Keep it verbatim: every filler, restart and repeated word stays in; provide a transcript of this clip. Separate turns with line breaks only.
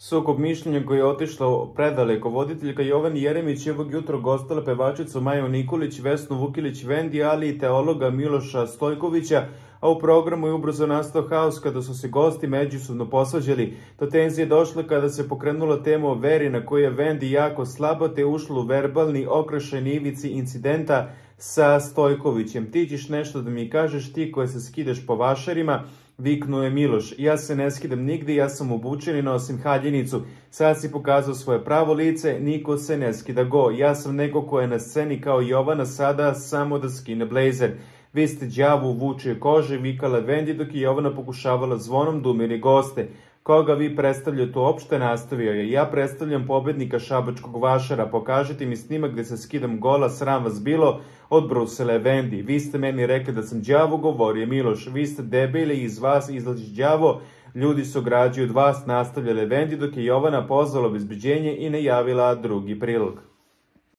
Sukob mišljenja koji je otišla predaleko. Voditeljka Jovan Jeremić je ovog jutra gostala pevačicu Maju Nikolić, Vesnu Vukilić Vendi, ali i teologa Miloša Stojkovića, a u programu je ubrzo nastao haos kada su se gosti međusobno posvađali. Do tenzije došlo kada se pokrenula tema o veri na kojoj je Vendi jako slaba, te ušlo u verbalni okršaj na ivici incidenta sa Stojkovićem. Ti ćeš nešto da mi kažeš, ti koje se skidaš po vašarima, viknuo je Miloš. Ja se ne skidam nigde, ja sam obučen i nosim haljinicu. Sad si pokazao svoje pravo lice, niko se ne skida go. Ja sam neko ko je na sceni kao Jovana sada, samo da skine blejzer. Vi ste đavo u vučije kože, vikala Vendi dok je Jovana pokušavala zvonom da umiri goste. Koga vi predstavljate uopšte, nastavio je. Ja predstavljam pobednika šabačkog vašara. Pokažite mi snimak gde se skidam gola, sram vas bilo, odbrusila je Vendi. Vi ste meni rekli da sam đavo, govorio Miloš. Vi ste debili, iz vas izlazi đavo, ljudi su građi od vas, nastavljale Vendi dok je Jovana pozvala obezbeđenje i najavila drugi prilog.